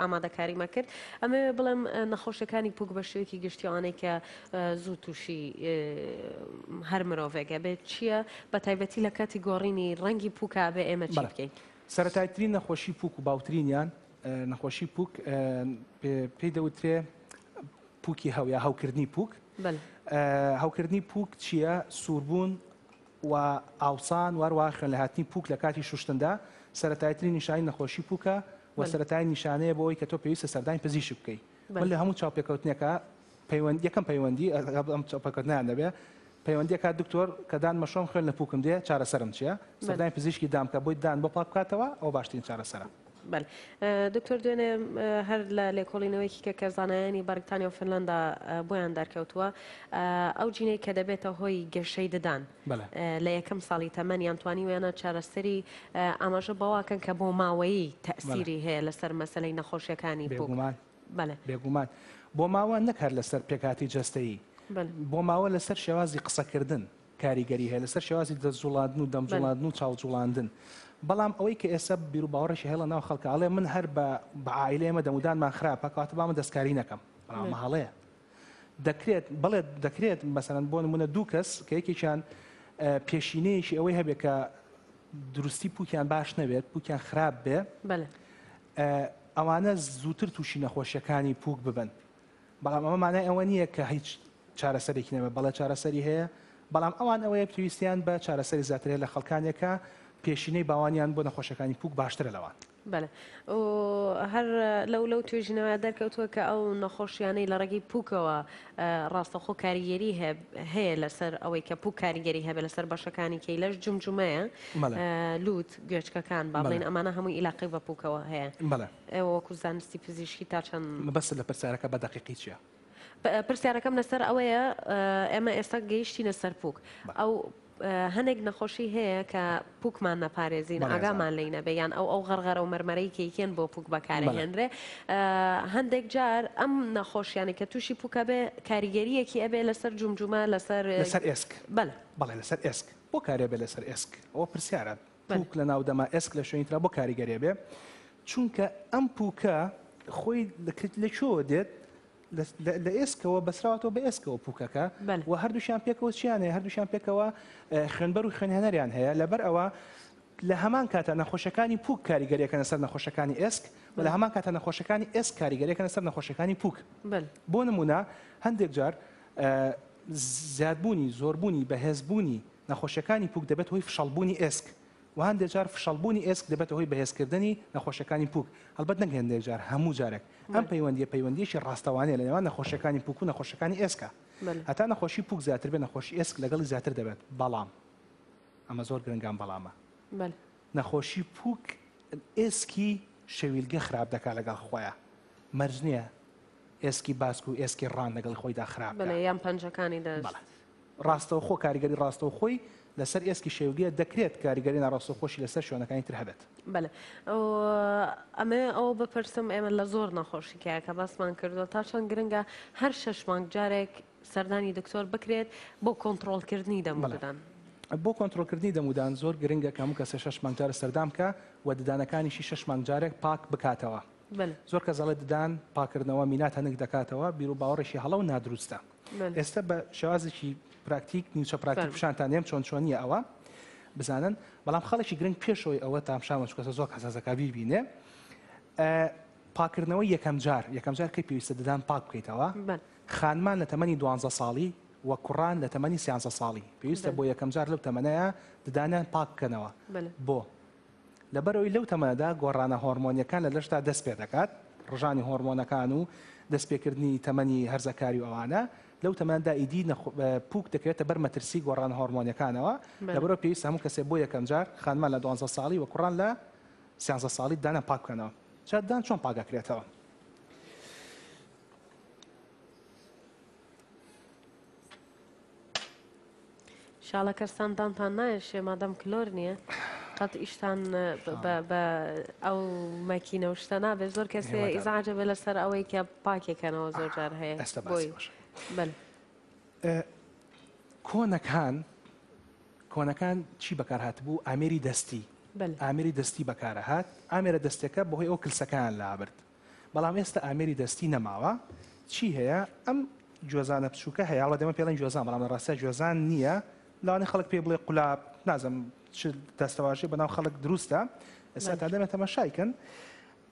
ئامادەکاریمە کرد ئەمەوێ بڵێم نەخۆشیەکانی پوک بە شێوەیەکی گشتی ئەوانەی کە زوو تووشی هەر مرۆڤێک ئەبێت چییە بە تایبەتی لە کاتی گۆڕینی ڕەنگی پوکا ئەبێ ئێمە چی بکەین؟ سەرەتایترین نەخۆشی پوک و باوترینیان نەخۆشی پوک پێی دەوترێ پوکی هەو یا هەوکردنی پوک. هەوکردنی پوک چییە؟ سووربوون و ئاوسان و هەروەها خوێنلەهاتنی پوک لە کاتی شوشتندا سەرەتایترین نیشانەی نەخۆشی پوکە و سەرەتایی نیشانەیە بۆ ئەوەی کە تۆ پێویستە سەردانی پزیشک بکەی. من لە هەموو چاوپێکەوتنێکا پەیوەند یەکەم پەیوەندی ئەم چاوپێکەوتنیان دەبێ پەیوەندیەکە دکتۆر کە دان مەشۆم خوێن لە پوکم دێ چارەسەرم چییە؟ سەردانی پزیشکی دان بکە بۆی دان بۆ پاک بکاتەوە ئەوە باشترین چارەسەرە. بەلێ دکتۆر دوێنێ هەر لە لێکۆڵینەوەیەکی کە کە زانایانی بەریتانیا و فنلەندا بۆیان دەرکەوتووە ئەو جینەی کە دەبێتە هۆی گەشەی ددان لە یەکەم ساڵی تەمەنیان توانیویانە چارەسەری ئاماژە بەوەکەن کە بۆ ماوەیی تەئسیری هەیە لەسەر مەسەلەی نەخۆشیەکانی پوک. بێگومان بێگومان بۆ ماوە نەک هەر لەسەر پێکهاتی جەستەیی بۆ ماوە لەسەر شێوازی قسەکردن کاریگەری هەیە لەسەر شێوازی دەست جوڵاندن و دەم جوڵاندن و چاو جوڵاندن بەڵام ئەوەی کە ئێستا بیروباوەڕێکی هەیە لە ناو خەڵکە ئەڵێ من هەر بە بە عائیلەی ئێمە دەمودانمان خراپە کەواتە با من دەستکاری نەکەم بەڵام ئەمە هەڵەیە دەکرێت بەڵێ دەکرێت مەسەلەن بۆ نمونە دوو کەس کە یەکێکیان پێشینەیەکی ئەوەی هەبێت کە دروستی پوکیان باش نەبێت پوکیان خراپ بێ ئەوانە زووتر تووشی نەخۆشیەکانی پوک ببن بەڵام ئەمە مانای ئەوە نییە کە هیچ چارەسەرێکی نەبێت، بەڵێ چارەسەری هەیە، بەڵام ئەوان ئەوەیە پێویستیان بە چارەسەری زیاتر هەیە لە خەڵکانێک کە پێشینەی باوانیان بۆ نەخۆشیەکانی پووک باشترە لەوان. بەڵێ و هەر لەو لەو توێژینەوەیە دەرکەوتووە کە ئەو نەخۆشیانەی لە ڕێگەی پووکەوە ڕاستەوخۆ کاریگەری هەیە لەسەر ئەوەی کە پووک کاریگەری هەبێت لەسەر بەشەکانی کەی لەش جومجومەیە، لووت، گوێچکەکان، با بڵێین ئەمانە هەمووی ئیلاقەی بە پووکەوە هەیە. بەڵێ. ئێوە وەکوو زانستی پزیشکی تا چەند. مەبەستت لە پرسیارەکە بە دەقیقی چییە؟ پرسیارەکەم لەسەر ئەوەیە ئێمە ئێستا گەیشتینە سەر پوک ئەو هەنێک نەخۆشی هەیە کە پوکمان نەپارێزین ئاگامان لی نەبێ یان ئەو ئەو غەرغەرە و مەرمەرەی کەیکێن بۆ پوک بەکارهێنرێ هەندێک جار ئەم نەخۆشیانە کە تووشی پوکە بێ کاریگەریەکی ئەبێ لەسەر جومجومە لەسەر لەسەر ئێسک بەڵێ بەڵێ لەسەر ئێسک بۆ کارێ بێ لەسەر ئێسک ئەوە پرسیارە پوک لە ناو دەما ئێسک لە شوێنی ترا بۆ کاریگەریە بێ چونکە ئەم پوکە خۆی لە کوێوە دێت لە ئێسکەوە بەسراوەتەوە بە ئێسکەوە پوکەکە و هەردووشیان پێکەوە چیان هەیە هەردووشیان پێکەوە خوێنبەر و خوێنهێنەریان هەیە لەبەر ئەوە لە هەمان کاتە نەخۆشەکانی پوک کاریگەریەکەنە سەر نەخۆشەکانی ئێسک و لە هەمان کاتە نەخۆشەکانی ئێسک کاریگەریەکەنە سەر نەخۆشەکانی پوک بۆ نمونە هەندێک جار زیادبوونی زۆربوونی بەهێزبوونی نەخۆشیەکانی پوک دەبێتە هۆی فشەڵبوونی ئێسک و هەندێک جار فشەڵبوونی ئێسک دەبێتە هۆی بەهێزکردنی نەخۆشیەکانی پوک، هەڵبەت نەک هێندێک جار هەموو جارێک. ئەم پەیوەندیە پەیوەندیەکی ڕاستەوانەیە لە نێوان نەخۆشیەکانی پوک و نەخۆشیەکانی ئێسکە. هەتا نەخۆشی پوک زیاتر بێت نەخۆشی ئێسک لەگەڵی زیاتر دەبێت، بەڵام ئەمە زۆر گرنگە ئەم بەڵامە. نەخۆشی پوک ئێسکی شەویلگە خراپ دەکات لەگەڵ خۆیا، مەرج نییە ئێسکی باسک و ئێسکی ڕان لەگەڵی خۆیدا خراپ بکات. بەڵێ یان پەنجەکانی دەست. بەڵێ. ڕاستەوخۆ کاریگەری ڕاستەوخۆی لەسەر ئێسکی شێوگیە، دەکرێت کاریگەری ناڕاستەوخۆشی لەسەر شوێنەکانی تر هەبێت. بەلێ ئەمەوێ ئەوە بپرسم ئێمە لە زۆر نەخۆشی کە کە باسمان کردووە تا چەند گرنگە هەر شەش مانگ جارێک سەردانی دکتۆر بکرێت بۆ کۆنتڕۆڵکردنی دەم و ددان؟ بۆ کۆنتڕۆڵکردنی دەم و دان زۆر گرنگە کە هەموو کەسێ شەش مانگ جارێک سەردان بکا و ددانەکانیشی شەش مانگ جارێک پاک بکاتەوە. زۆر کەس ئەڵێ ددان پاکردنەوە مینا تەنک دەکاتەوە، بیروباوەڕێکی هەڵە و نادروستە. ئێستا بە شێوازێکی پراکتیک نیمچە پراکتیک پیشانتان دێم چۆن چۆنیە ئەوە بزانن بەڵام خەڵکی گرنگ پێشەوەی ئەوە تامشامە چکەسە زۆر حەساسەکە بیبینێ پاکردنەوەی یەکەم جار یەکەم جار کەی پێویستە ددان پاک بکەیتەوە خانمان لە تەمەنی دوانزە ساڵی و کوڕان لە تەمەنی سیانزە ساڵی پێویستە بۆ یەکەم جار لەو تەمەنەیە ددانیان پاک بکەنەوە بۆ لەبەرئەوەی لەو تەمەنەدا گۆڕانە هۆرمۆنییەکان لە لەشدا دەست پێدەکات، ڕژانی هۆرمۆنەکان و دەستپێکردنی تەمەنی هەرزەکاری و ئەوانە، لەو تەمەنەدا ئیدی پووک دەکەوێتە بەر مەترسی گۆڕانە هۆرمۆنییەکانەوە، لەبەرئەوە پێویستە هەموو کەسێک بۆ یەکەمجار خانمان لە دوانزە ساڵی و کوڕان لە سیانزە ساڵی ددانیان پاک بکەنەوە. جا ددان چۆن پاک ئەکرێتەوە؟ شاڵە کەستان دانتان نایەشێ مادەم کلۆر نییە قەت ئیشتان بە ئەو مەکینە و شتە نابێت زۆر کەسێ ئیزعاجە بێ لەسەر ئەوەی کە پاکێکەنەوە زۆر جار هەیە ئێستا باسی باشە بەل کۆنەکان کۆنەکان چی بەکار هاتبوو ئامێری دەستی ئامێری دەستی بەکارە هات ئامێرە دەستەکە بەهۆی ئەو کلسەکان لابرد. بەڵام ئێستا ئامێری دەستی نەماوە. چی هەیە؟ ئەم گوێزانە بچووکە هەیە، هەڵبەت ئێمە پێڵێن گوێزان بەڵام لە ڕاستیا گوێزان نییە، لەوانەیە خەڵک پێی بڵێ قولاب، نازانم چ دەستەواژەی بەناو خەڵک دروستە، ئێستا تا دەمێ تەماشای کەن.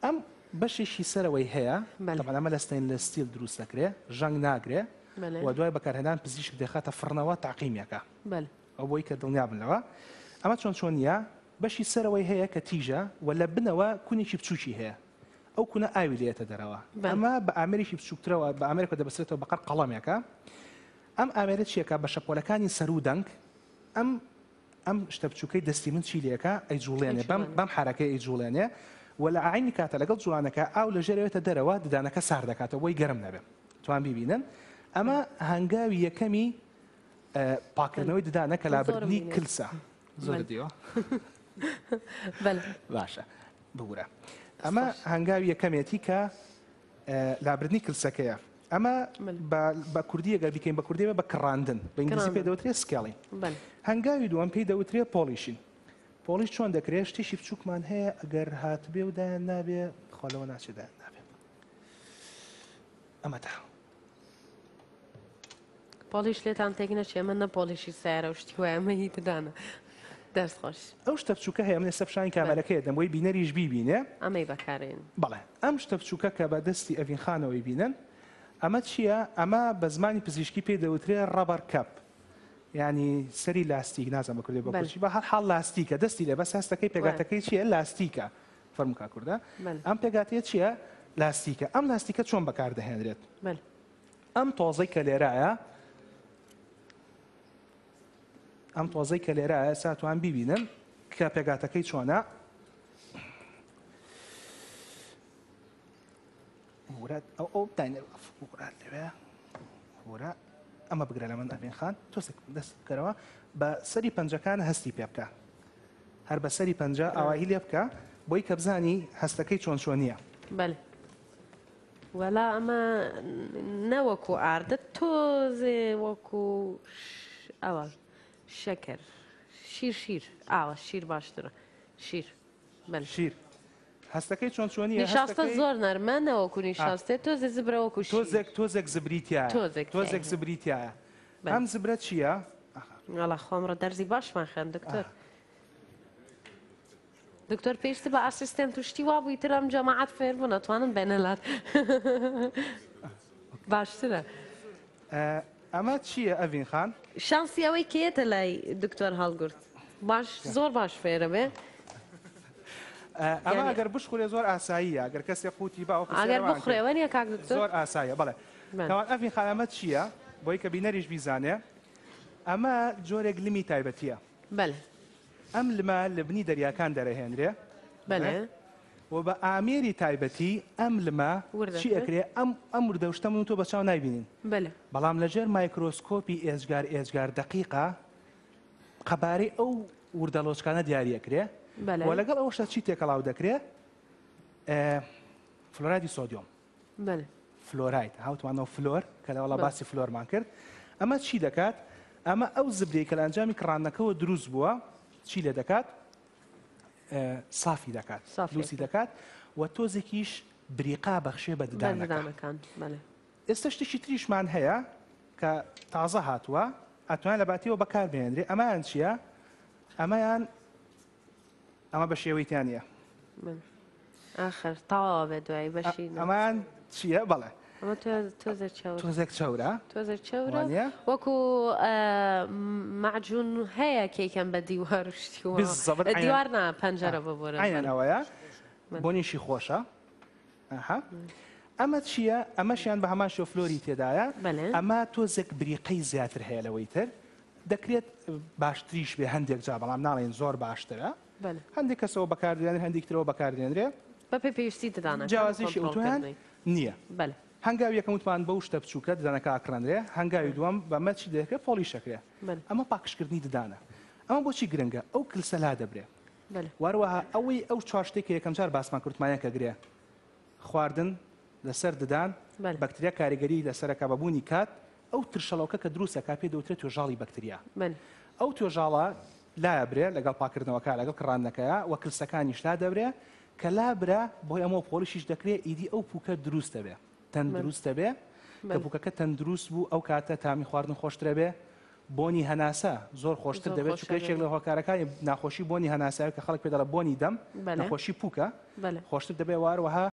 ئەم بەشێکی سەرەوەی هەیە، تەبعەن ئەمە لە stainless steel دروست دەکرێ، ژەنگ ناگرێ و دوای بەکارهێنان پزیشک دەیخاتە فڕنەوە تەعقیمیەکە. ئەو بۆی کە دڵنیا بن لەوە. ئەمە چۆن چۆنییە؟ بەشی سەرەوەی هەیە کە تیژە و لە بنەوە کونێکی بچووکی هەیە. ئەو کونە ئاوی لێیەتە دەرەوە. ئەمە بە ئامێرێکی بچووکترەوە، بە ئامێرێکەوە دەبەسترێتەوە بەقەر قەڵەمێکە. ئەم ئامێرە چیەکا؟ بە شەپۆلەکانی سەروو دەنگ ئەم ئەم شتە بچووکەی دەستی من چی لێکا؟ ئەیجوڵێنێ. بەم بەم حەرەکەی ئەیجوڵێنێ و لە عەینی کاتە لەگەڵ جوڵانەکە ئاو لە ژێرەوێتە دەرەوە، ددانەکە سارد دەکاتەوە بۆی گەرم نەبێ. توان بیبینن. ئەمە هەنگاوی یەکەمی پاکردنەوەی ددانە کە لابردنی کلسە. زۆرت دیوە؟ باشە ببورە. ئەمە هەنگاوی یەکەمێتی کە لابردنی کلسەکەیە. ئەمە بە کوردی ئەگەر بیکەین بە کوردی بە کڕاندن، بە ئینگلیزی پێ دەوترێ scaling. هەنگاوی دووەم پێی دەوترێ polishing. polish چۆن دەکرێت؟ شتێکی بچووکمان هەیە ئەگەر هاتبێ و دایان نابێ، خوا لەوە ناچێ دایان نابێ. ئەمە تا polish لێتان تێک نەچێ من نە polish ی سیارە و شتی وایە من هی ددانە دەست خۆش. ئەو شتە بچووکە هەیە من ئێستا پیشانی کامێرەکەی دەم بۆی بینەریش بیبینێ. ئەمەی بەکارێن. بەڵێ ئەم شتە بچووکە کە بە دەستی ئەڤین خانەوەی بینن ئەمە چییە؟ ئەمە بە زمانی پزیشکی پێی دەوترێ rubber cap یانی سەری لاستیک نازانم بە کوردی بە کوردی بە هەر حاڵ لاستیکە دەستی لێ بەس هەستەکەی پێگاتەکەی چییە لاستیکە فەرموو کاک کوردە ئەم پێگاتەیە چییە لاستیکە ئەم لاستیکە چۆن بەکاردەهێنرێت؟ ئەم تۆزەی کە لێرایە ئەم تۆزەی کە لێرایە ئێستا توان بیبینن کە پێگاتەکەی چۆنە ورات ئەو ئەو داینەر ورات لەوێ ورا ئەمە بگرە لە من ئەڤین خان تۆسێک دەست بکەرەوە بە سەری پەنجەکان هەستی پێ بکە هەر بە سەری پەنجە ئاواهی لێ بکە بۆی کە بزانی هەستەکەی چۆن چۆنیە. بەلێ وەلا ئەمە نە وەکو ئاردە تۆزێ وەکو ئەوە شەکر شیر شیر ئاوە شیر باشترە شیر بەلێ. شیر هەستەکەی چۆن چۆنیە نیشاستە زۆر نەرمە نەوەکو نیشاستێ تۆزێ زبرە وەکو شیر. تۆزێک تۆزێک زبری تیایە تۆزێک تۆزێک زبری تیایە ئەم زبرە چییە؟ وەڵا خۆم ڕە دەرزی باشمان خوێند دکتۆر. دکتۆر پێویست بە assistant و شتی وا بووی تر ئەم جەماعەت فێر بوون ئەتوانن بێنە لات باشترە. ئەمە چییە ئەڤین خان؟ شانسی ئەوەی کە یەتە لای دکتۆر هەڵگورد باش زۆر باش فێرە بێ. ئەمە ئەگەر بشخورێ زۆر ئاساییە ئەگەر کەسێ قوتی با ئەگەر بخورێ وەنیە کاک دکتۆر؟ زۆر ئاساییە بەڵێ. تاوان ئەڤین خان ئەمە چییە؟ بۆی کە بینەریش بیزانێ ئەمە جۆرێک لمی تایبەتیە. بەلێ. ئەم لمە لە بنی دەریاکان دەرەهێنرێ. بەلێ. و بە ئامێری تایبەتی ئەم لمە چی ئەکرێ ئەم ئەم وردە شتە من و تۆ بە چاو نایبینین. بەلێ. بەڵام لە ژێر مایکرۆسکۆپی ئێجگار ئێجگار دەقیقا قەبارەی ئەو وردەلۆچکانە دیاری ئەکرێ. بەلێ. و لەگەڵ ئەوەشا چی تێکەڵاو دەکرێ؟ فلۆرایدی سۆدیۆم. بەلێ. فلۆراید هاوتمانەوە فلۆر کە لەوەڵا باسی فلۆرمان کرد ئەمە چی دەکات ئەمە ئەو زبرەی کە لە ئەنجامی کڕانەکەوە دروست بووە چی لێ دەکات سافی دەکات لوسی دەکات و تۆزێکیش بریقا بەخشێ بە ددانەکان ئێستا شتێکی تریشمان هەیە کە تازە هاتووە ئەتوان لە باتیەوە بەکاربهێنرێ ئەمایان چییە ئەمەیان ئەمە بە شێوەی تیا نییە. ئاخر تەواوە بێ دوایی بەشی ئەمان چییە بەڵێ ئەمە تۆزێک چەورە تۆزێک چەورە تۆزێک چەورە وەکو مەعجون هەیە کەیکەم بە دیوار و شتی وا. بالضبط دیوار نا پەنجەرە ببورە عینەن ئەوەیە بۆنیشی خۆشە ئەها ئەمە چییە ئەمەشیان بە هەمان شێوە فلۆری تێدایە ئەمە تۆزێک بریقەی زیاتر هەیە لەوەی تر دەکرێت باشتریش بێ هەندێک جا بەڵام ناڵێن زۆر باشترە هەندێک کەسەوە بەکاردێنێ هەندێک ترەوە بەکاردێنرێ بەپێ پێویستی ددانەکان جیاوازیشی ئەوتۆیان نییە. بەلێ. هەنگاوی یەکەم وتمان بەو شتە بچووکە ددانەکە ئاکڕێنرێ، هەنگاوی دووەم بەمە چی دەکرێ polish ئەکرێ. ئەمە پاکژکردنی ددانە. ئەمە بۆچی گرنگە؟ ئەو کلسە لادەبرێ. وەروەها ئەوەی ئەو چوار شتەی کە یەکەم جار باسمان کرد وتمان یەکە گرێ خواردن لەسەر ددان، بەکتریا کاریگەری لەسەرەکە بە بوونی کات، ئەو ترشەڵۆکە کە دروست ئەکا پێی دەوترێت توێژاڵی بەکتریا. ئەو توێژاڵە لایەبرێ لەگەڵ پاکردنەوەکە لەگەڵ کڕاندنەکەیا و کلسەکانیش لادەبرێ. کە لابرا بەهۆی ئەمەوە polish یش دەکرێ ئیدی ئەو پوکە دروست دەبێ تەندروست دەبێ کە پوکەکە تەندروست بوو ئەو کاتە تامی خواردن خۆشترە بێ بۆنی هەناسە زۆر خۆشتر دەبێت چونکە یەکێک لە هۆکارەکانی ناخۆشی بۆنی هەناسە کە خەڵک پێ دەڵێ بۆنی دەم نەخۆشی پوکە خۆشتر دەبێ واروەها.